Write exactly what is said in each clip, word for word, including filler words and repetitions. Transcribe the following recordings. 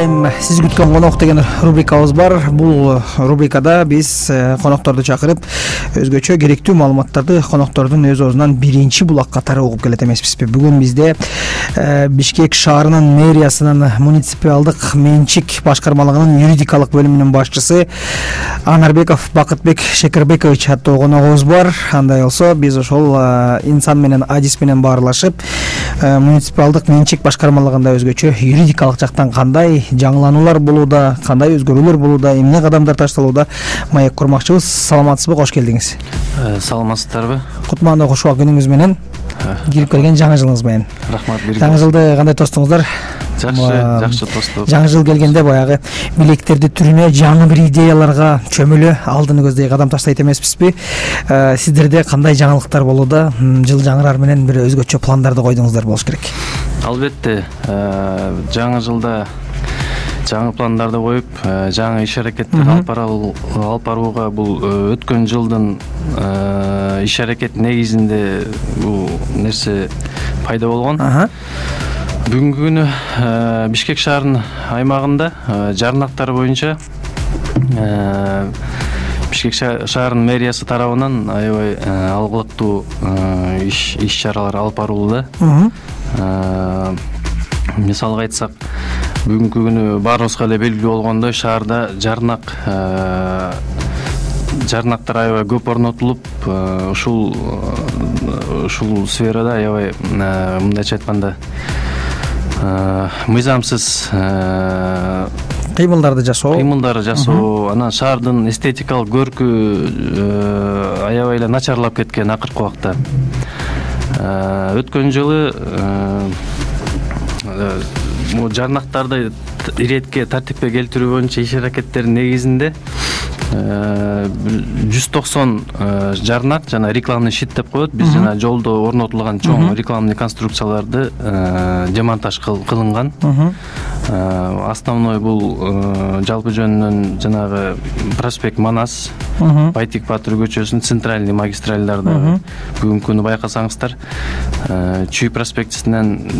айым сиз күткөн конок деген рубрикабыз бар. Бул рубрикада биз конокторду чакырып өзгөчө керектүү маалыматтарды коноктордун өз оозунан биринчи булак катары угуп келет эмеспизби? Бүгүн бизде Бишкек шаарынын мэриясынын муниципалдык менчик башкармалыгынын юридикалык бөлүмүнүн башчысы Анарбеков Бакытбек Шекербекович аттуу коногубуз бар. Андай болсо биз ошол инсан менен адис менен баарлашып муниципалдык менчик башкармалыгында өзгөчө юридикалык жактан кандай жаңылануулар болууда, кандай өзгөрүүлөр болууда, эмне кадамдар ташталууда маек курмакчыбыз. Саламатсызбы? Кош келдиңиз. Саламатсыздарбы? Кутмандуу кушубак күнүңүз менен, кирип келген жаңы жылыңыз менен. Рахмат. Жаңы жылды кандай тостуңуздар? Жакшы, жакшы тосту. Жаңы жыл келгенде баягы билектерди түрүнө, жаңы бир идеяларга чөмүлө алдыны көздөй кадам таштайт эмеспизби? Сиздерде кандай жаңылыктар болууда? Жыл жаңырар менен бир өзгөчө пландарды койдуңуздар болуш керек. Албетте, жаңы жылда жаңы пландарды коюп, жаңы иш аракеттер алып барууга бул өткөн жылдын иш аракет негизинде бул нерсе пайда болгон. Бүгүнкү күнү Бишкек шаарынын аймагында жарнактар боюнча Бишкек шаарынын мэриясы тарабынан аябай алгылыктуу иш иш чаралар алып барылууда. Мисалга айтсак, бүгүнкү күнү баарыбызга эле белгилүү болгондой, шаарда жарнак жарнактар аябай көп орнотулуп, ушул ушул сферада аябай мындайча айтканда мыйзамсыз кыймылдарды жасоо, кыймылдарды жасоо, анан шаардын эстетикалык көркү аябай эле начарлап кеткен акыркы убакта. Өткөн жылы жарнактарды иретке, тартипке келтирүү боюнча иш аракеттердин негизинде жүз токсон жарнак жана рекламный щит деп коет. Биз жана жолдо орнотулган чоң рекламный конструкцияларды демонтаж кылынган. Основной бул жалпы жөнүнөн жанагы проспект Манас, Байтик Батыр көчөсүнүн центральный магистралдарды бүгүнкү күнү байкасаңыздар, Чүй проспектисинен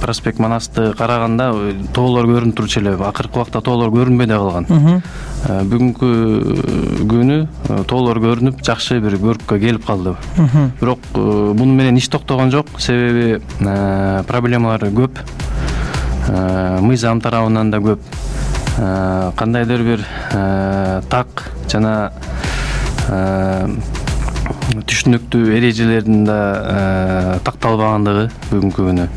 проспект Манасты караганда тоолор көрүнүп турчу эле. Акыркы убакта тоолор көрүнбөй да калган. Бүгүнкү күнү тоолор көрүнүп, жакшы бир көрккө келип калды. Бирок муну менен иш токтогон жок, себеби проблемалар көп. Мыйзам тарабынан да көп. Кандайдыр бир так жана түшүнүктүү эрежелердин да такталбагандыгы бүгүнкү күнү.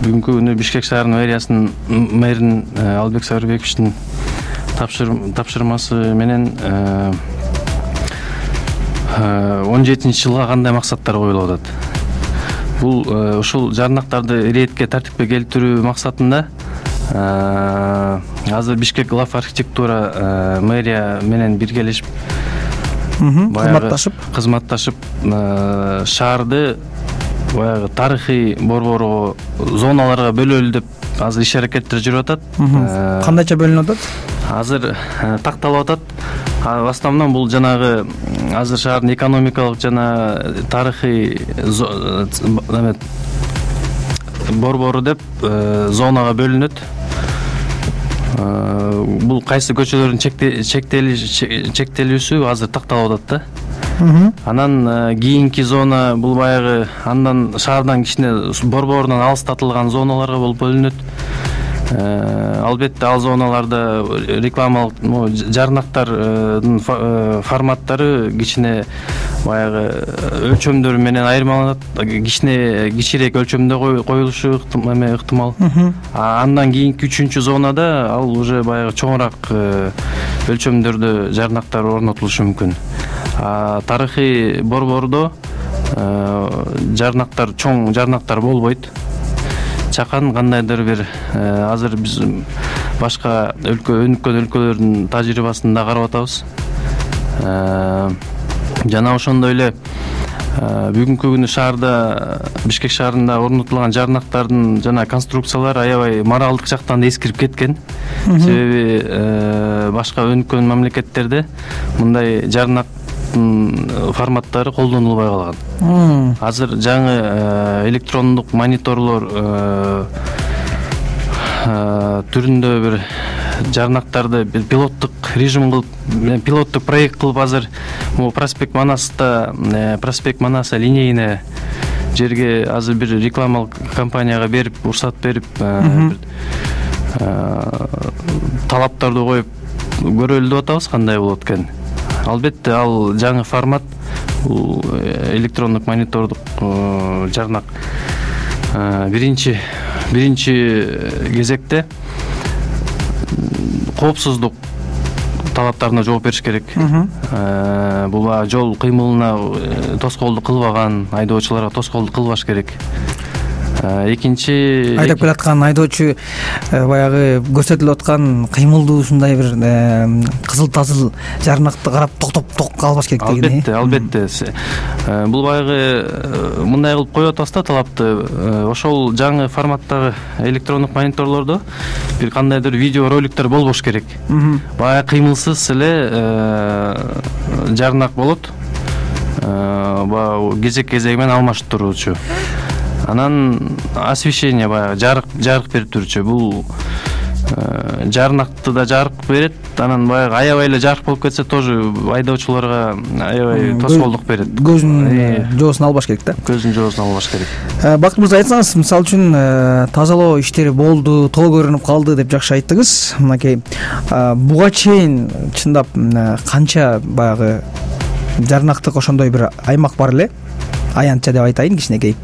Бүгүнкү күнү Бишкек шаарынын мэриясынын мэрин Албек Сабырбековичтин тапшырмасы менен он жетинчи жылга кандай максаттар коюлуп атат? Бул ушул жарнактарды иретке, тартипке келтирүү максатында азыр Бишкек глав архитектура мэрия менен биргелешип, кызматташып кызматташып шаарды баягы тарыхый борборго, зоналарга бөлөлү деп азыр иш аракеттер жүрүп атат. Кандайча бөлүнүп атат? Азыр такталып атат. В основном бул жанагы азыр шаардын экономикалык жана тарыхый борбору деп зонага бөлүнөт. Бул кайсы көчөлөрдүн чектелүүсү азыр такталып атат да. Анан кийинки зона бул баягы андан шаардан кичине борборунан алыстатылган зоналарга болуп бөлүнөт. Албетте ал зоналарда рекламалык жарнактардын форматтары кичине баягы өлчөмдөр менен айырмаланат. Кичине кичирээк өлчөмдө коюлушу ыктымал. Андан кийинки үчүнчү зонада ал уже баягы чоңураак өлчөмдөрдө жарнактар орнотулушу мүмкүн. Тарыхый борбордо жарнактар, чоң жарнактар болбойт. Чакан кандайдыр бир азыр биз башка өлкө, өнүккөн өлкөлөрдүн тажрыйбасын да карап атабыз. Жана ошондой эле бүгүнкү күнү шаарда, Бишкек шаарында орнотулган жарнактардын жана конструкциялар аябай моралдык жактан да эскирип кеткен. Себеби башка өнүккөн мамлекеттерде мындай жарнак форматтары колдонулбай калган. Азыр жаңы электрондук мониторлор түрүндө бир жарнактарды бир пилоттук режим кылып, пилоттук проект кылып азыр могу проспект Манаста, проспект Манаса линейный жерге азыр бир рекламалык компанияга берип, уруксат берип, талаптарды коюп көрөлү деп атабыз, кандай болот экен. Албетте ал жаңы формат, бул электрондук монитордук жарнак биринчи биринчи кезекте коопсуздук талаптарына жооп бериш керек. Бул жол кыймылына тоскоолдук кылбаган, айдоочуларга тоскоолдук кылбаш керек. Экинчи айдап келаткан айдоочу баягы көрсөтүлүп аткан кыймылдуу ушундай бир кызыл тазыл жарнакты карап токтоп ток калбаш керек деген. Албетте, албетте. Бул баягы мындай кылып коюп атабыз да талапты. Ошол жаңы форматтагы электрондук мониторлордо бир кандайдыр видео роликтер болбош керек. Баягы кыймылсыз эле жарнак болот. Баягы кезек-кезеги менен алмашып туруучу. Анан освещение баягы жарык жарык берип турчу. Бул жарнакты да жарык берет. Анан баягы аябай эле жарык болуп кетсе тоже айдоочуларга аябай тоскоолдук берет. Көзүнүн жоосун албаш керек да. Көзүнүн жоосун албаш керек. Бакыт мырза, айтсаңыз, мисалы үчүн тазалоо иштери болду, тоо көрүнүп калды деп жакшы айттыңыз. Мынакей буга чейин чындап канча баягы жарнактык ошондой бир аймак бар эле? Аянтча деп айтайын кичинекей.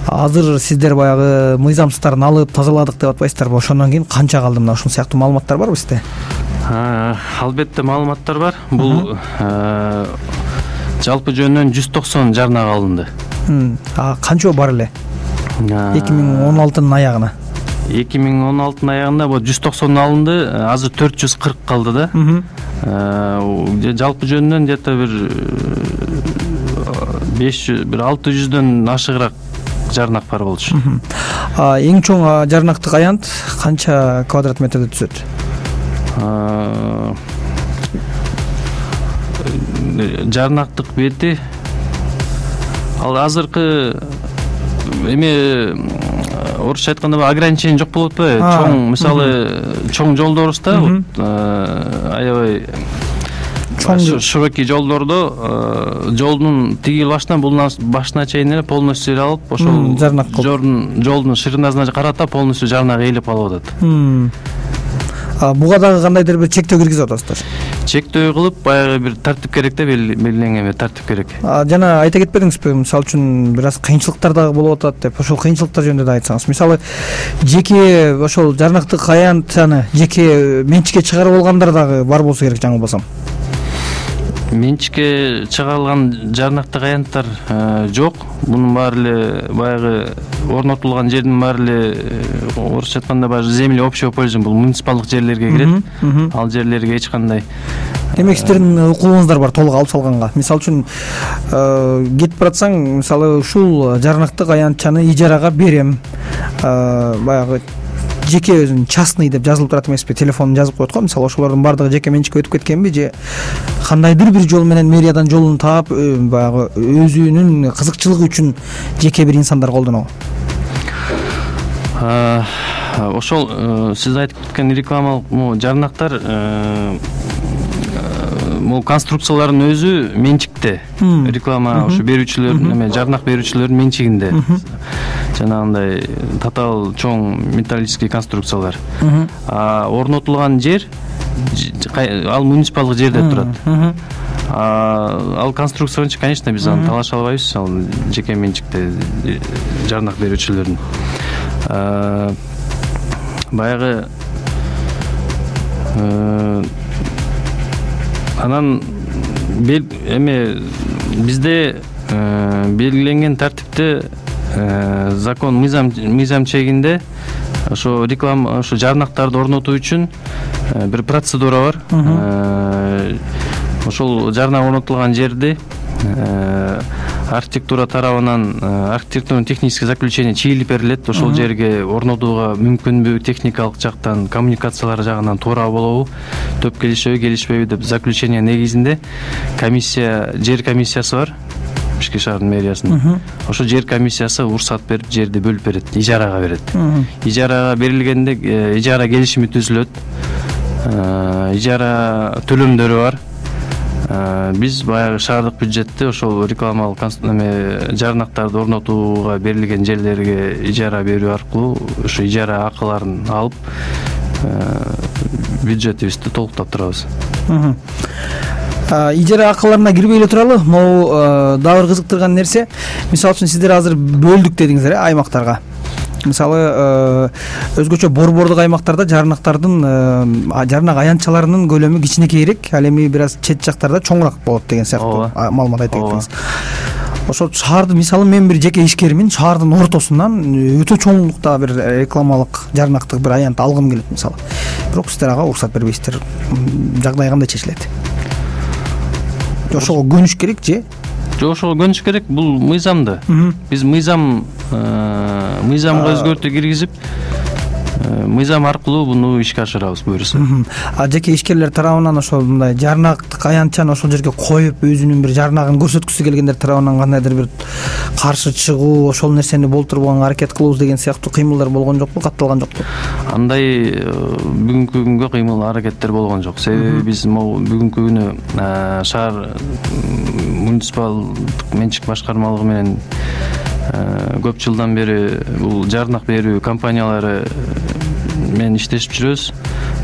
Азыр сиздер баягы мыйзамсыздарын алып тазаладык деп атпайсыздарбы? Ошондон кийин канча калды? Мына ушул сыяктуу маалыматтар барбы сизде? Албетте маалыматтар бар. Бул жалпы жөнүнөн жүз токсон жарнак алынды. А канча бар эле? эки миң он алтынын аягына. эки миң он алтынын аягында бул жүз токсон алынды. Азыр төрт жүз кырк калды да. Жалпы жөнүнөн где-то бир беш жүз, бир алты жүздөн ашыгыраак жарнак бар болчу. Эң чоң жарнактык аянт канча квадрат метрде түзөт? Жарнактык бети ал азыркы эме орусча айтканда ограничение жок болуп атпайбы? Чоң, мисалы, чоң жолдорубузда аябай широкий жолдордо жолдун тиги башынан бул башына чейин эле полностью алып, ошол жолдун ширинасына карата полностью жарнак ээлеп алып атат. Буга дагы кандайдыр бир чектөө киргизип атасыздар? Чектөө кылып, баягы бир тартип керек да, белгиленген бир тартип керек. Жана айта кетпедиңизби, мисалы үчүн бир аз кыйынчылыктар дагы болуп атат деп, ошол кыйынчылыктар жөнүндө да айтсаңыз. Мисалы, жеке ошол жарнактык аянтчаны жеке менчикке чыгарып алгандар дагы бар болсо керек, жаңылбасам. Менчикке чыгарылган жарнактык аянттар жок. Бунун баары эле баягы орнотулган жердин баары эле орусча айтканда баягы земли общего пользования, бул муниципалдык жерлерге кирет. Ал жерлерге эч кандай. Демек сиздердин укугуңуздар бар толук алып салганга. Мисалы үчүн кетип баратсаң, мисалы ушул жарнактык аянтчаны ижарага берем. Баягы жеке өзүн частный деп жазылып турат эмеспи, телефонун жазып коет го. Мисалы ошолордун баардыгы жеке менчикке өтүп кеткенби же кандайдыр бир жол менен мэриядан жолун таап, баягы өзүнүн кызыкчылыгы үчүн жеке бир инсандар колдонобу? Ошол сиз айтып кеткен рекламалык жарнактар, бул конструкциялардын өзү менчикте. Реклама ушу берүүчүлөрдүн, эме жарнак берүүчүлөрдүн менчигинде. Жанагындай татаал чоң металлический конструкциялар. А орнотулган жер ал муниципалдык жерде турат. Ал конструкцияны, конечно, биз аны талаша албайбыз, ал жеке менчикте жарнак берүүчүлөрдүн. Баягы анан эме бизде белгиленген тартипте закон мыйзам мыйзам чегинде ошо реклама, ошо жарнактарды орнотуу үчүн бир процедура бар. Ошол жарнак орнотулган жерди архитектура тарабынан архитектурно технический заключение чийилип берилет. Ошол жерге орнотууга мүмкүнбү, техникалык жактан, коммуникациялар жагынан туура болобу, төп келишеби, келишпейби деп заключение негизинде комиссия, жер комиссиясы бар. Бишкек шаарынын мэриясынын. Ошо жер комиссиясы уруксат берип, жерди бөлүп берет, ижарага берет. Ижарага берилгенде ижара келишими түзүлөт. Ижара төлөмдөрү бар. Биз баягы шаардык бюджетти ошол рекламалык жарнактарды орнотууга берилген жерлерге ижара берүү аркылуу ошо ижара акыларын алып бюджетибизди толуктап турабыз. Ижара акыларына кирбей эле туралы, могу дагы бир кызыктырган нерсе, мисалы үчүн сиздер азыр бөлдүк дедиңиздер, аймактарга. Мисалы өзгөчө борбордук аймактарда жарнактардын жарнак аянтчаларынын көлөмү кичинекейирээк, ал эми бир аз чет жактарда чоңураак болот деген сыяктуу маалымат айтып кеттиңиз. Ошол шаардын, мисалы мен бир жеке ишкермин, шаардын ортосунан өтө чоңдукта бир рекламалык жарнактык бир аянт алгым келет мисалы. Бирок сиздер ага уруксат бербейсиздер. Жагдай кандай чечилет? Ошого көнүш керек же? Жок, ошого көнүш керек. Бул мыйзамды. Биз мыйзам мыйзамга өзгөртүү киргизип, мыйзам аркылуу буну ишке ашырабыз буюрса. А жеке ишкерлер тарабынан ошол мындай жарнактык аянтчаны ошол жерге коюп, өзүнүн бир жарнагын көрсөткүсү келгендер тарабынан кандайдыр бир каршы чыгуу, ошол нерсени болтурбоганга аракет кылабыз деген сыяктуу кыймылдар болгон жокпу, катталган жокпу? Андай бүгүнкү күнгө кыймыл аракеттер болгон жок. Себеби биз бүгүнкү күнү шаар муниципалдык менчик башкармалыгы менен көп жылдан бери бул жарнак берүү компаниялары менен иштешип жүрөбүз.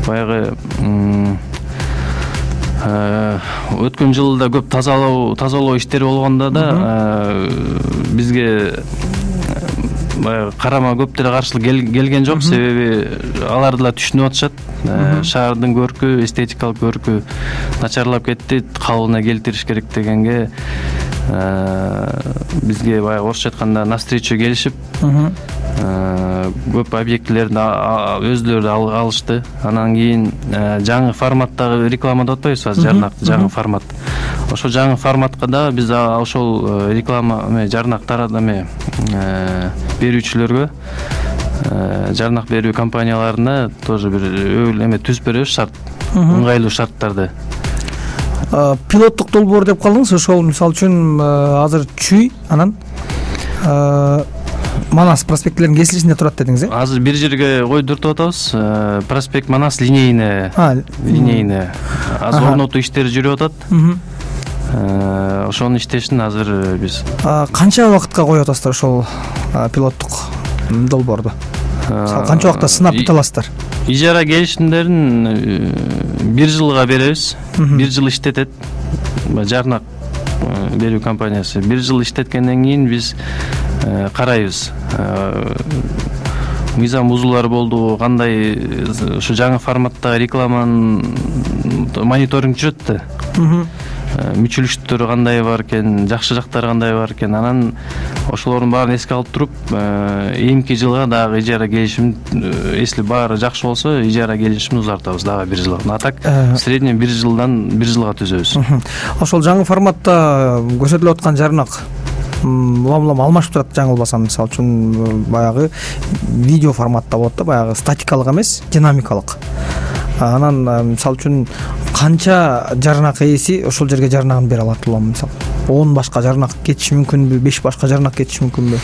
Баягы өткөн жылда көп тазалоо тазалоо иштери болгондо да бизге баягы карама көп деле каршылык келген жок. Себеби алар да түшүнүп атышат. Шаардын көркү, эстетикалык көркү начарлап кетти, калыбына келтириш керек дегенге бизге баягы орусча айтканда навстречу келишип, көп объектилерди өздөрү алышты. Анан кийин жаңы форматтагы реклама деп атпайбызбы, жарнак жаңы формат. Ошол жаңы форматка да биз ошол реклама жарнак таратма берүүчүлөргө, жарнак берүү компанияларына тоже бир эме түзүп беребиз, шарт, ыңгайлуу шарттарды. Пилоттук долбоор деп калдыңыз, ошол мисалы үчүн азыр Чүй, анан Манас проспекттеринин кесилишинде турат дедиңиз, э? Азыр бир жерге койдуртуп атабыз. Проспект Манас линейный. Линейный. Азыр орнотуу иштери жүрүп атат. Ошонун иштешин азыр биз. Канча убакытка коюп атасыздар ошол пилоттук долбоорду? Канча убакытта сынап бүтө аласыздар? Ижара келишимдерин бир жылга беребиз. Бир жыл иштетет. Жарнак берүү компаниясы бир жыл иштеткенден кийин биз карайбыз. Мыйзам бузуулар болду, кандай ушу жаңы форматтагы рекламанын мониторинг жүрөт да. Мүчүлүштөрү кандай бар экен, жакшы жактары кандай бар экен. Анан ошолордун баарын эске алып туруп, эми жылга дагы ижара келишим, если баары жакшы болсо, ижара келишимди узартабыз дагы бир жылга. А так средний бир жылдан бир жылга түзөбүз. Ошол жаңы форматта көрсөтүлүп аткан жарнак улам-улам алмашып турат, жаңылбасам. Мисалы үчүн баягы видео форматта болот да, баягы статикалык эмес, динамикалык. Анан мисалы үчүн канча жарнак ээси ошол жерге жарнагын бере алат улам, мисалы он башка жарнак кетиши мүмкүнбү, беш башка жарнак кетиши мүмкүнбү?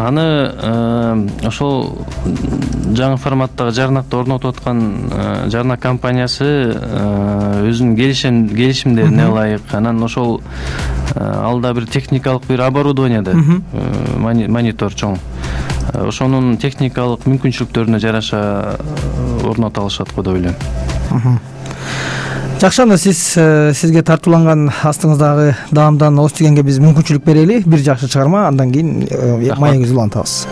Аны ошол жаңы форматтагы жарнакты орнотуп аткан жарнак компаниясы өзүнүн келишим келишимдерине ылайык. Анан ошол алда бир техникалык бир оборудование да, монитор чоң. Ошонун техникалык мүмкүнчүлүктөрүнө жараша орното алышат го деп ойлойм. Жакшы, анда сиз сизге тартууланган астыңыздагы даамдан ооз тигенге биз мүмкүнчүлүк берели. Бир жакшы чыгарма, андан кийин маегибизди улантабыз.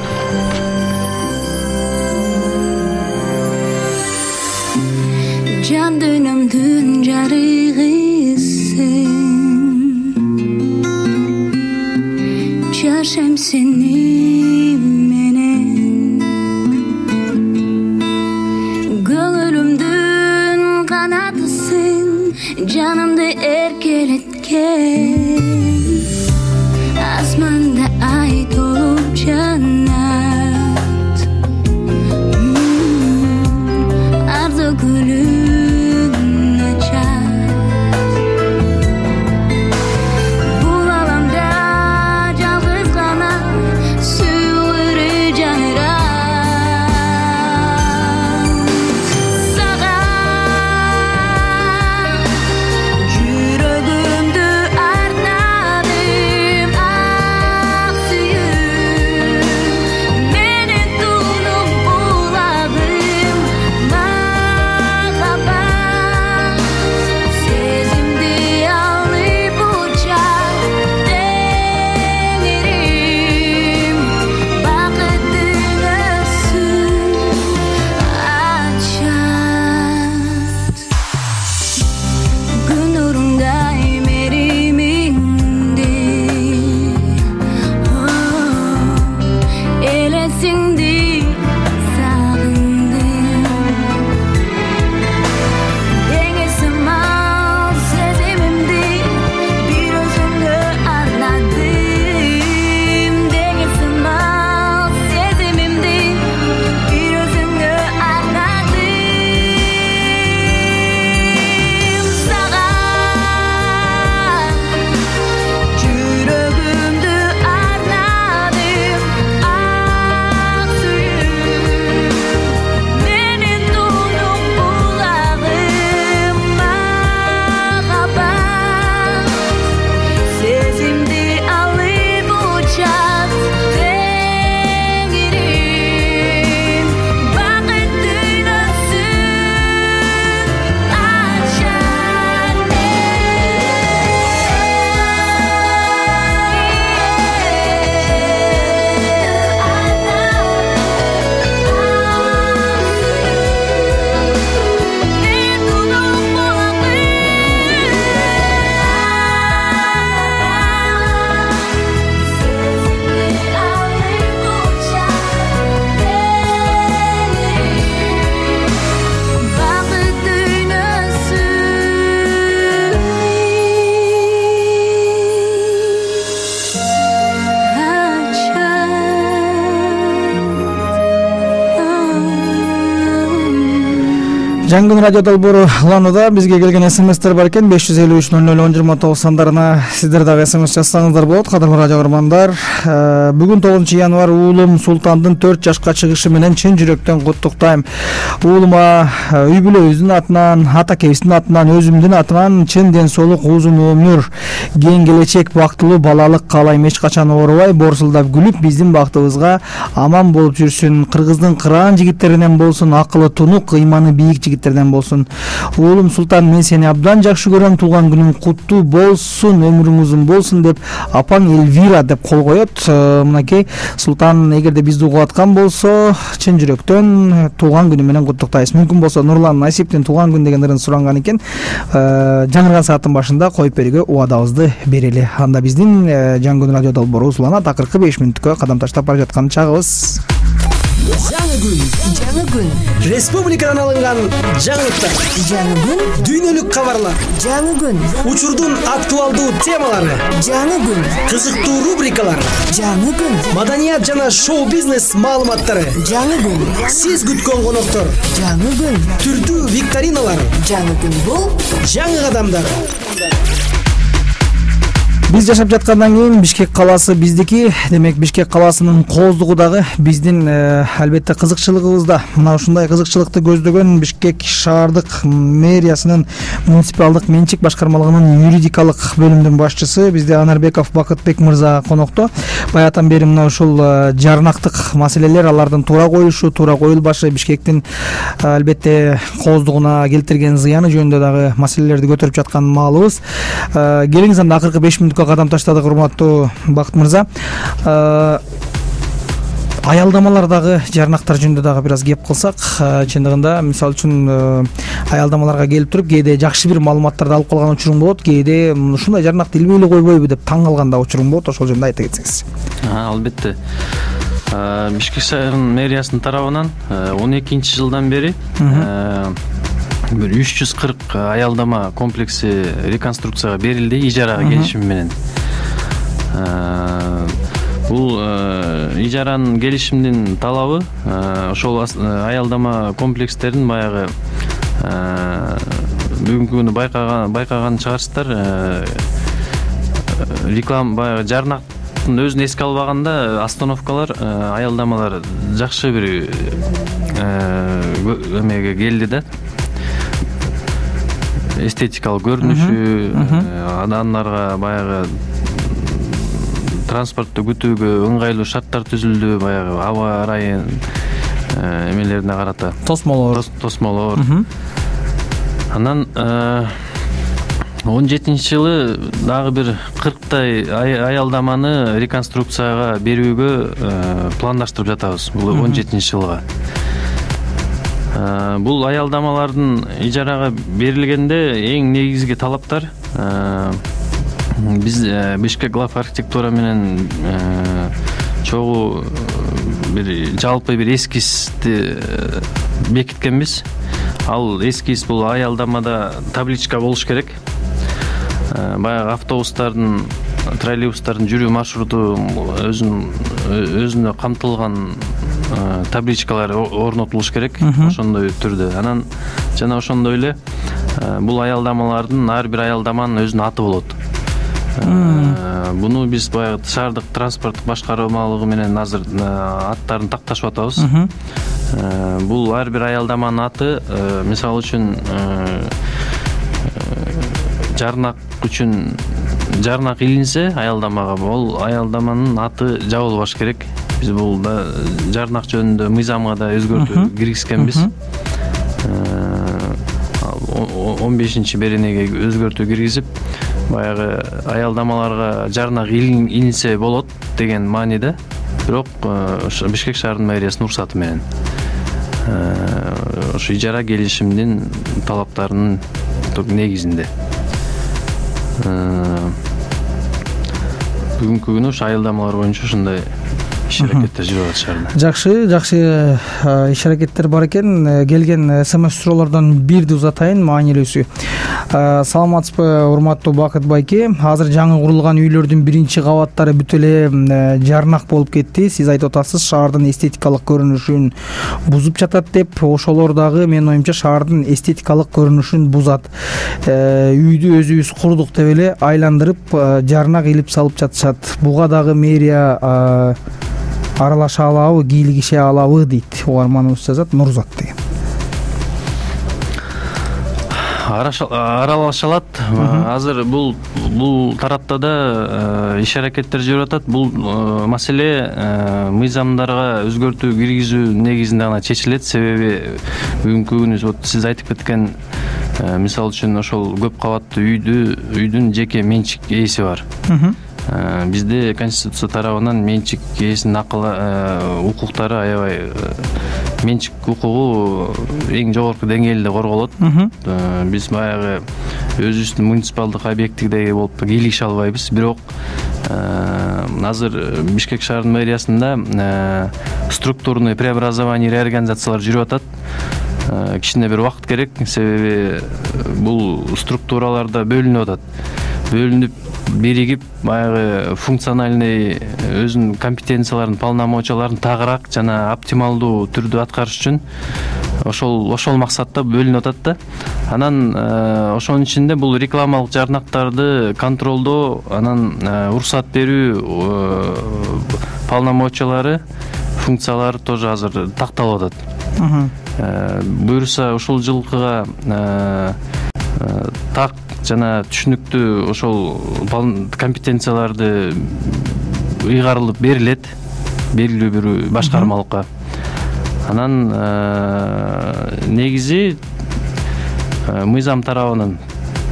Жан дүйнөмдүн жарыгысың, жашайм сени менен, көңүлүмдүн канатысың, жанымды эркелеткен, асманда ай толуп жанат, арзу гүлүң ачат. Бул Жаңы күн радио долбоору уланууда. Бизге келген смстер бар экен. беш жүз элүү үч нөл нөл он жыйырма тогуз сандарына сиздер дагы смс жазсаңыздар болот. Кадырлуу радио көрөрмандар, бүгүн тогузунчу январь уулум Султандын төрт жашка чыгышы менен чын жүрөктөн куттуктайм. Уулума үй бүлөбүздүн атынан, атакебиздин атынан, өзүмдүн атынан чын ден соолук, узун өмүр, кең келечек, бактылуу балалык каалайм. Эч качан оорубай, борсулдап күлүп, биздин бактыбызга аман болуп жүрсүн. Кыргыздын кыраан жигиттеринен болсун, акылы тунук, ыйманы бийик жигиттерден болсун. Уулум Султан, мен сени абдан жакшы көрөм. Туулган күнүң куттуу болсун, өмүрүң узун болсун деп апаң Эльвира деп кол коет. Мынакей Султан эгерде бизди угуп аткан болсо, чын жүрөктөн туулган күнү менен куттуктайбыз. Мүмкүн болсо Нурлан Насиптин туулган күн деген ырын суранган экен. Жаңырган сааттын башында коюп берүүгө убадабызды берели. Анда биздин жаңы күн радио долбоору узулана акыркы беш мүнөткө кадам таштап бара жаткан чагыбыз. Жаңы күн, жаңы күн. Республикадан алынган жаңылыктар. Жаңы күн. Дүйнөлүк кабарлар. Жаңы күн. Учурдун актуалдуу темалары. Жаңы күн. Кызыктуу рубрикалар. Жаңы күн. Маданият жана шоу-бизнес маалыматтары. Жаңы күн. Сиз күткөн коноктор. Жаңы күн. Түрдүү викториналар. Жаңы күн бул жаңы кадамдар. Биз жашап жаткандан кийин Бишкек калаасы биздики. Демек Бишкек калаасынын кооздугу дагы биздин албетте кызыкчылыгыбызда. Мына ушундай кызыкчылыкты көздөгөн Бишкек шаардык мэриясынын муниципалдык менчик башкармалыгынын юридикалык бөлүмүнүн башчысы бизде Анарбеков Бакытбек мырза конокто. Баятан бери мына ушул жарнактык маселелер, алардын туура коюшу, туура коюлбашы, Бишкектин албетте кооздугуна келтирген зыяны жөнүндө дагы маселелерди көтөрүп жаткан маалыбыз. Келиңиз анда акыркы беш мүнөткө кадам таштадык, урматтуу Бакыт мырза. Аялдамалардагы жарнактар жөнүндө дагы бир аз кеп кылсак, чындыгында мисалы үчүн аялдамаларга келип туруп кээде жакшы бир маалыматтарды алып калган учуруң болот, кээде ушундай жарнакты илбей эле койбойбу деп таң калган да учуруң болот. Ошол жөнүндө айта кетсеңиз. Албетте. Бишкек шаарынын мэриясынын тарабынан он экинчи жылдан бери бир үч жүз кырк аялдама комплекси реконструкцияга берилди ижарага келишим менен. Бул ижаранын келишимдин талабы ошол аялдама комплекстерин баягы бүгүнкү күнү байкаган байкаган чыгарсыздар, реклама баягы жарнактын өзүн эске албаганда остановкалар, аялдамалар жакшы бир эмеге келди да. Эстетикалык көрүнүшү, адамдарга баягы транспортто күтүүгө ыңгайлуу шарттар түзүлдү, баягы аба ырайы эмелерине карата. Тосмолор. Тосмолор. Анан он жетинчи жылы дагы бир кырктай аялдаманы реконструкцияга берүүгө пландаштырып жатабыз. Бул он жетинчи жылга. Бул аялдамалардын ижарага берилгенде эң негизги талаптар биз Бишкек глав архитектура менен чогуу бир жалпы бир эскизди бекиткенбиз. Ал эскиз бул аялдамада табличка болуш керек. Баягы автобустардын, троллейбустардын жүрүү маршруту өзүн өзүнө камтылган табличкалар орнотулуш керек, ошондой түрдө. Анан жана ошондой эле бул аялдамалардын ар бир аялдаманын өзүнүн аты болот. Буну биз баягы шаардык транспорттук башкармалыгы менен азыр аттарын такташып атабыз. Бул ар бир аялдаманын аты, мисалы үчүн жарнак үчүн жарнак илинсе аялдамага, бул аялдаманын аты жабылбаш керек. Биз бул да жарнак жөнүндө мыйзамга да өзгөртүү киргизгенбиз. он бешинчи беренеге өзгөртүү киргизип, баягы аялдамаларга жарнак илинсе болот деген мааниде, бирок Бишкек шаарынын мэриясынын уруксаты менен ошо ижара келишимдин талаптарынын негизинде. Бүгүнкү күнү ошо аялдамалар боюнча ушундай иш аракеттер жүрүп атат шаарда. Жакшы, жакшы иш аракеттер бар экен. Келген смс суроолордон бирди узатайын, маанилүүсү. Саламатсызбы, урматтуу Бакыт байке? Азыр жаңы курулган үйлөрдүн биринчи кабаттары бүт эле жарнак болуп кетти. Сиз айтып атасыз, шаардын эстетикалык көрүнүшүн бузуп жатат деп. Ошолор дагы менин оюмча шаардын эстетикалык көрүнүшүн бузат. Үйдү өзүбүз курдук деп эле айландырып жарнак илип салып жатышат. Буга дагы мэрия аралаша алабы, кийлигише алабы дейт. Угарманыбыз жазат, Нурзат деген. Аралаша алат. Азыр бул бул тарапта да иш аракеттер жүрүп атат. Бул маселе мыйзамдарга өзгөртүү киргизүү негизинде гана чечилет. Себеби бүгүнкү күнү вот сиз айтып кеткен, мисалы үчүн ошол көп кабаттуу үйдү үйдүн жеке менчик ээси бар. Бизде Конституция тарабынан менчик ээсинин укуктары аябай, менчик укугу эң жогорку деңгээлде корголот. Биз баягы өзүбүздүн муниципалдык объектидеги болуп кийлигише албайбыз. Бирок азыр Бишкек шаарынын мэриясында структурный преобразование, реорганизациялар жүрүп атат. Кичине бир убакыт керек, себеби бул структураларда бөлүнүп атат. Бөлүнүп, биригип, баягы функциональный өзүнүн компетенцияларын, полномочияларын тагыраак жана оптималдуу түрдө аткарыш үчүн ошол ошол максатта бөлүнүп атат да. Анан ошонун ичинде бул рекламалык жарнактарды контролдоо, анан уруксат берүү полномочиялары, функциялары тоже азыр такталып атат. Буюрса ушул жылкыга так жана түшүнүктүү ошол компетенцияларды ыйгарылып берилет белгилүү бир башкармалыкка. Анан негизи мыйзам тарабынан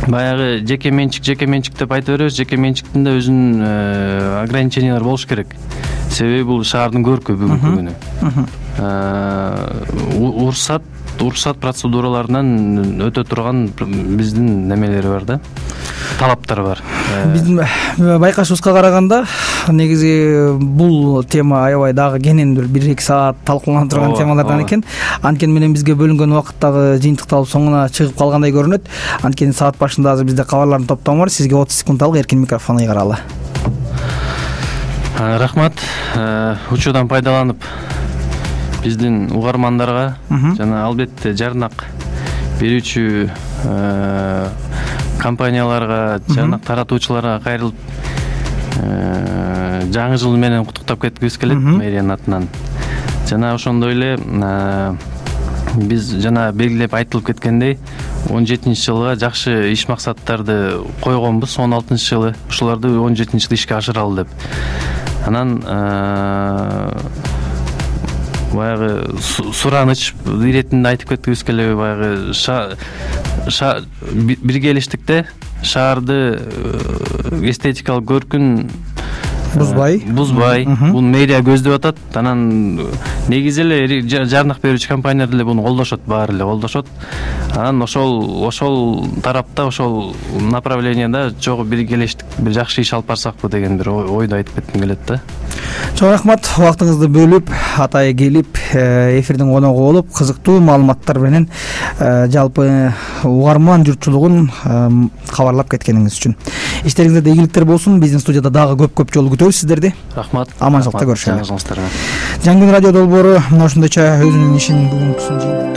баягы жеке менчик жеке менчик деп айтып беребиз. Жеке менчиктин да өзүнүн ограничениялары болуш керек. Себеби бул шаардын көркү бүгүнкү күнү. Уруксат уруксат процедураларынан өтө турган биздин немелери бар да, талаптар бар. Биздин байкашыбызга караганда негизи бул тема аябай дагы кенен бир эки саат талкууланып турган темалардан экен. Анткени менен бизге бөлүнгөн убакыт дагы жыйынтыкталып соңуна чыгып калгандай көрүнөт. Анткени саат башында азыр бизде кабарлардын топтому бар. Сизге отуз секундалык эркин микрофон ыйгаралы. Рахмат. Учурдан пайдаланып биздин угармандарга жана албетте жарнак берүүчү компанияларга, жарнак таратуучуларга кайрылып жаңы жыл менен куттуктап кеткибиз келет мэриянын атынан. Жана ошондой эле биз жана белгилеп айтылып кеткендей он жетинчи жылга жакшы иш максаттарды койгонбуз. он алтынчы жылы ушуларды он жетинчи жылы ишке ашыралы деп. Анан баягы сураныч иретинде айтып кеткибиз келеби, баягы биргелиштикте шаарды эстетикалык көркүн бузбай бузбай бул мэрия көздөп атат. Анан негизи эле жарнак берүүчү компаниялар деле буну колдошот, баары эле колдошот. Анан ошол ошол тарапта, ошол направленияда чогуу биргелештик, бир жакшы иш алып барсакпы деген бир ойду айтып кетким келет да. Чоң рахмат, убактыңызды бөлүп, атайы келип, эфирдин коногу болуп, кызыктуу маалыматтар менен жалпы угарман журтчулугун кабарлап кеткениңиз үчүн. Иштериңизде ийгиликтер болсун. Биздин студияда дагы көп-көп жолу күтөбүз сиздерди. Рахмат. Аманчылыкта көрүшөлү. Жаңы жылыңыздарга. Жаңы күн радио долбоору мына ушундайча өзүнүн ишин бүгүнкүсүн